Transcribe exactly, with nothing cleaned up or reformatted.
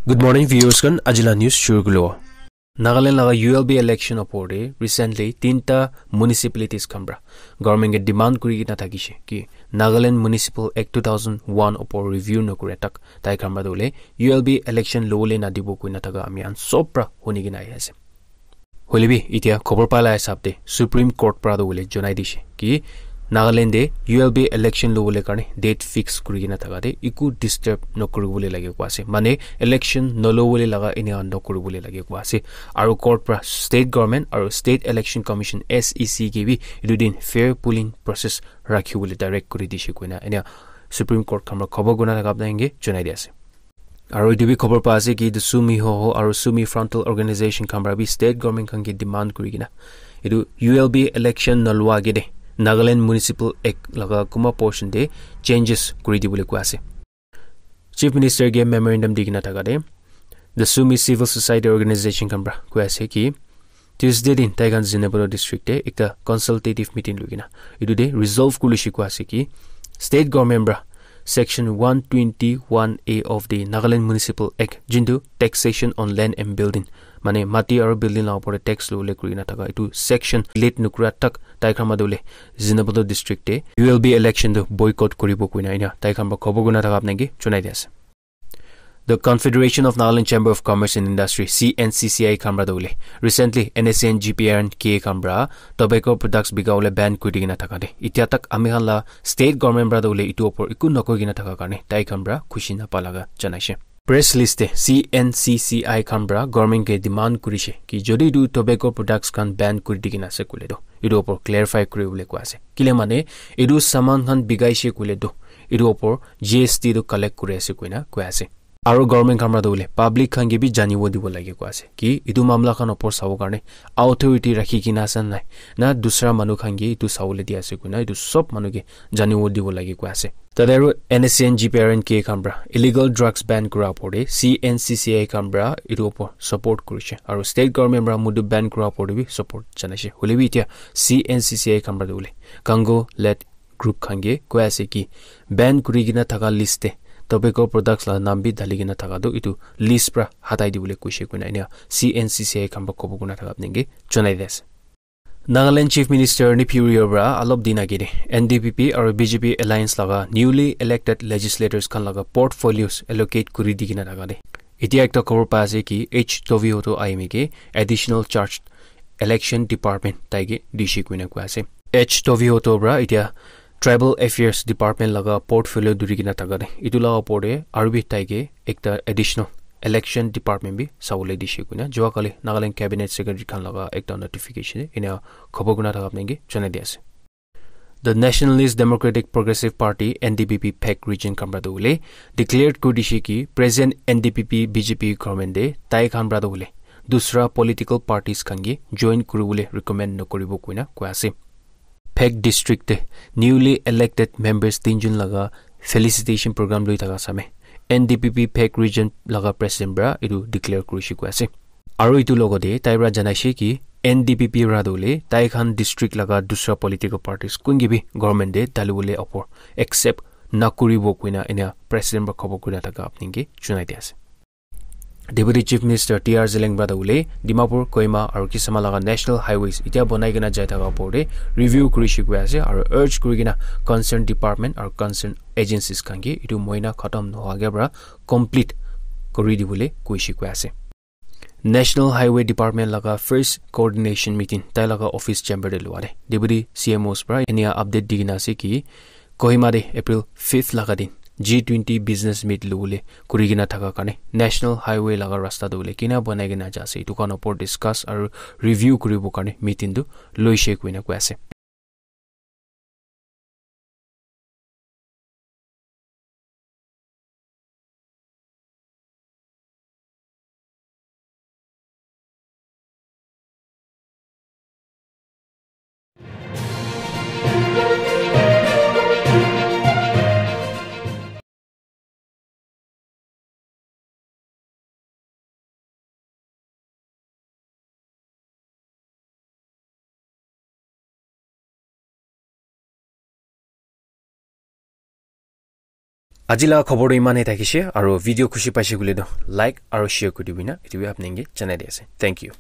Good morning, viewers khan. Ajila news shuru kulo. Nagaland laga U L B election opor te recently tinta municipalities khan pra government ke demand kuri kena thakishe ki Nagaland Municipal Act two thousand one opor review nokure tak tai khan pra dole U L B election lole na dibo kuina thaka ami an sob pra huni kena ahi ase. Hoile bi itia khobor pala hisab te Supreme Court pra do bole jonai dishe ki Nagaland te U L B election lobole karne date fix kuri kena thaka te iku disturb nokuri bole lage kua ase. Mane election nolobole laga enia nokuri bole lage kua ase. Aru court pra state government aru State Election Commission, S E C, ke bi etu din fair polling process rakhi bole direct kuri dishe koina enia Supreme Court khan pra khobor guna thaka apna inge jonai di ase. Aru etu bi khobor pa ase ki etu Sumi Hoho aru Sumi Frontal Organization khan pra bi state government khan ke demand kuri kena etu U L B election nalua age de Nagaland Municipal Act laga kuma portion te changes kuri dibole koi ase. Chief Minister ke memorandum di kena thaka te the Sumi Civil Society Organization khan pra koi ase ki Tuesday din tai khan Zunheboto district te ekta consultative meeting loi kena etu te resolve kuri shi koi ase ki state government pra section one twenty one A of the Nagaland Municipal Act, jintu taxation on land and building, mane mati aru building la opor te tax lole kuri kena thaka etu section late nukura tak tai khan madole Zunheboto district te U L B election tu boycott kuribo koina enia tai khan pra khobor guna thaka apna ke jonai di ase. The Confederation of Nagaland Chamber of Commerce and Industry, C N C C I khan pra dole recently N S C N, G P R and K khan pra tobacco products bika bole ban kuri kena thaka de itia tak ami khan la state government pra dole etu opor iku nokoi kena thaka karne tai khan pra khushi na pa laga janaishe. Press list te C N C C I khan pra government ke demand kurishe ki jodi etu tobacco products khan ban kuri di kena ase koile to etu opor clarify kuri bole koi ase. Kile mane etu saman khan bikaishe koile to etu opor G S T tu collect kuri ase koina koi ase. Aru government khan pra tu hoile public khan ke bi janibo dibo lage koi ase ki etu mamla khan opor sabo karne authority rakhi kena ase nai na dusra manu khan ke etu sabole di ase koina etu sob manu ke janibo dibo lage koi ase. Tate aru N S C N, G P R and K khan pra illegal drugs ban kura opor te C N C C I khan pra etu opor support kurishe aru state government pra mudu ban kura opor te bi support janaishe. Hoile bi itia C N C C I khan pra tu hoile Kango led group khan ke koi ase ki ban kuri kena thaka list te tobacco products la naam bi dali kena thaka tu etu list pra hatai dibole koishe koina enia C N C C I khan pra khobor guna thaka apni ke jonai di ase. Nagaland Chief Minister Neiphiu Rio pra alop din age te N D P P aru B J P alliance laga newly elected legislators khan laga portfolios allocate kuri di kena thaka de itia ekta khobor pa ase ki H Tobihotto Ayimi ke additional charge election department tai ke dishi koina koi ase. H Tobihotto pra itia tribal affairs department laga portfolio duri kena thaka de etu la opor te aru bi tai ke ekta additional election department bi sabole dishi koina jua kali Nagaland cabinet secretary khan laga ekta notification enia khobor guna thaka apni ke jonai di ase. The Nationalist Democratic Progressive Party, N D P P, Phek region khan pra tu hoile declared kuri dishe ki present N D P P B J P government te tai khan pra tu hoile dusra political parties khan ke join kuri bole recommend nokuribo koina koi ase. Phek district te newly elected members tinjun laga felicitation program loi thaka same N D P P Phek region laga president pra etu declare kurishe koi ase. Aru etu logote tai pra janaishe ki N D P P pra tu hoile tai khan district laga dusra political parties kun ke bi government te dali bole opor accept nakuribo koina enia president pra khobor guna thaka apni ke jonai di ase. Deputy Chief Minister T R Zeliang pra tu hoile Dimapur, Kohima aru Kisama laga national highways itia bonai kena jai thaka opor te review kurishe koi ase aru urge kuri kena concern department aru concern agencies khan ke etu mohina khatam nohua ke pra complete kuri dibole koishe koi ase. National Highway Department laga first coordination meeting tai laga office chamber te lua de Deputy C M Os pra enia update di kena ase ki Kohima te April fifth laga din G twenty business meet lobole kuri kena thaka karne National Highway laga rasta tu hoile kina banai kena ja ase etu khan opor discuss aru review kuribo karne meeting tu loishe koina koi ase. Aji laga khobor tu iman he thakishe, aru video khushi paishe koile tu like aru share kuri dibi na, etu bi apni ke janai di ase. Thank you.